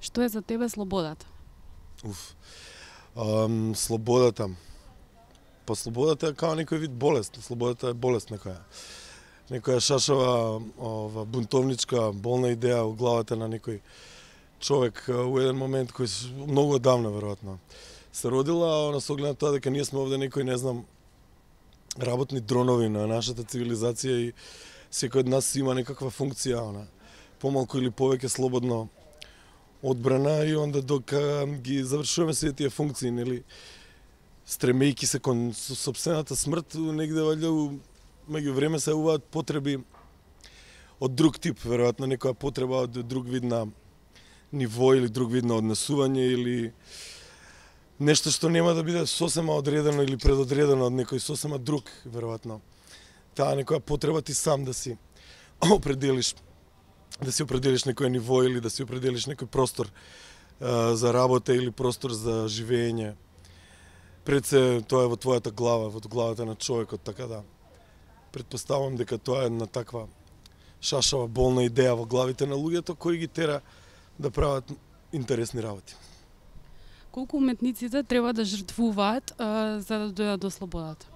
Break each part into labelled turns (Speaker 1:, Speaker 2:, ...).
Speaker 1: Што е за тебе слободата?
Speaker 2: Слободата. Па слободата е као некој вид болест. Слободата е болест некоја шашава бунтовничка, болна идеја во главата на некој човек во еден момент кој многу одамна веројатно се родила, на соглед на тоа дека ние сме овде некој, не знам, работни дронови на нашата цивилизација и секој од нас има некаква функција, помалку или повеќе слободно одбрана, и онда дока ги завршуваме сите тие функции, нели, стремејки се кон сопствената смрт, негде валјда меѓу време се јавуваат потреби од друг тип, веројатно некоја потреба од друг вид на ниво или друг вид на однесување или нешто што нема да биде сосема одредено или предодредено од некој сосема друг, веројатно. Таа некоја потреба ти сам да си определиш некој ниво или да си определиш некој простор за работа или простор за живење. Пред се тоа е во твојата глава, во главата на човекот, така да предпоставам дека тоа е една таква шашава болна идеја во главите на луѓето кои ги тера да прават интересни работи.
Speaker 1: Колку уметниците треба да жртвуваат за да дојдат до слободата?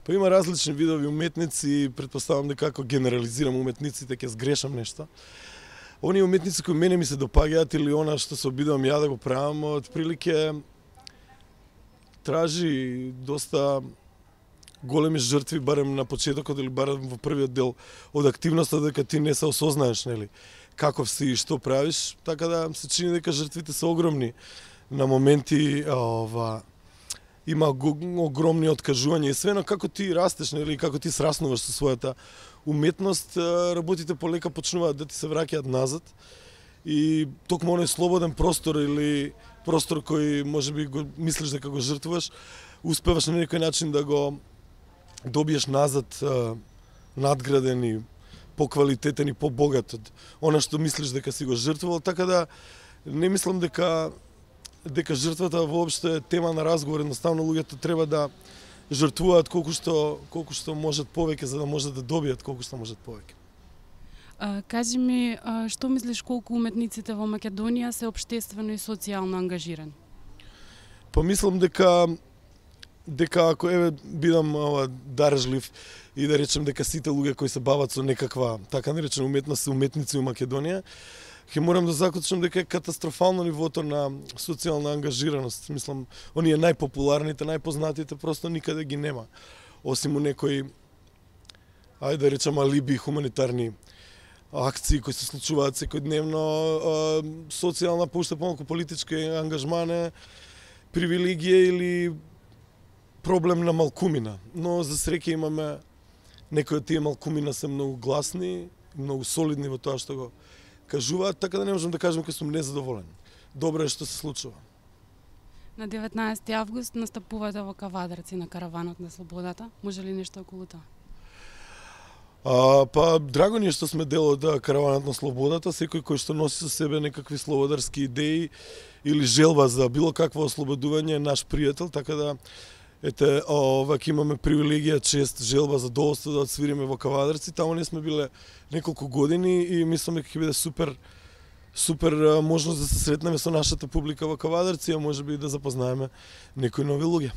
Speaker 2: Па има различни видови уметници, предпоставам дека ако генерализирам уметниците ќе сгрешам нешто. Оние уметници кои мене ми се допаѓаат или она што се обидувам ја да го правам, отприлике тражи доста големи жртви, барем на почетокот или барем во првиот дел од активноста, дека ти не се осознаеш, нели, каков си и што правиш, така да се чини дека жртвите се огромни. На моменти има огромни откажувања и свено како ти растеш, нели, како ти сраснуваш со својата уметност, работите полека почнуваат да ти се враќаат назад и токму оној слободен простор или простор кој можеби го мислиш дека го жртвуваш, успеваш на некој начин да го добиеш назад надграден и поквалитетен и побогат од она што мислиш дека си го жртвувал, така да не мислам дека жртвата воопшто е тема на разговор. Едноставно луѓето треба да жртвуваат колку што можат повеќе за да можат да добијат колку што можат повеќе.
Speaker 1: Кажи ми, што мислиш колку уметниците во Македонија се општествено и социјално ангажирани?
Speaker 2: Па мислам дека ако бидам дарежлив и да речем дека сите луѓе кои се бават со некаква така наречена уметност се уметници у Македонија, ќе морам да заклучам дека е катастрофално нивото на социјална ангажираност. Мислам, оние најпопуларните, најпознатите просто никаде ги нема. Осим у некои, ајде да речем, алиби хуманитарни акции кои се случуваат секојдневно, социјална, поуште помалку политичка ангажмане, привилегија или проблем на малкумина. Но за среќа имаме некои од тие малкумина се многу гласни, многу солидни во тоа што го кажуваат, така да не можам да кажам дека сум незадоволен. Добро е што се случува.
Speaker 1: На 19 август настапувате во Кавадарци на Караванот на слободата. Може ли нешто околу тоа?
Speaker 2: Па драго ни е што сме дел од Караванот на слободата. Секој кој што носи со себе некакви слободарски идеи или желба за било какво ослободување е наш пријател, така да ете, вака имаме привилегија, чест, желба, задоволство да отсвириме во Кавадарци. Таму не сме биле неколку години и мислам дека ќе биде супер можност да се сретнеме со нашата публика во Кавадарци, а можеби и да запознаеме некои нови луѓе.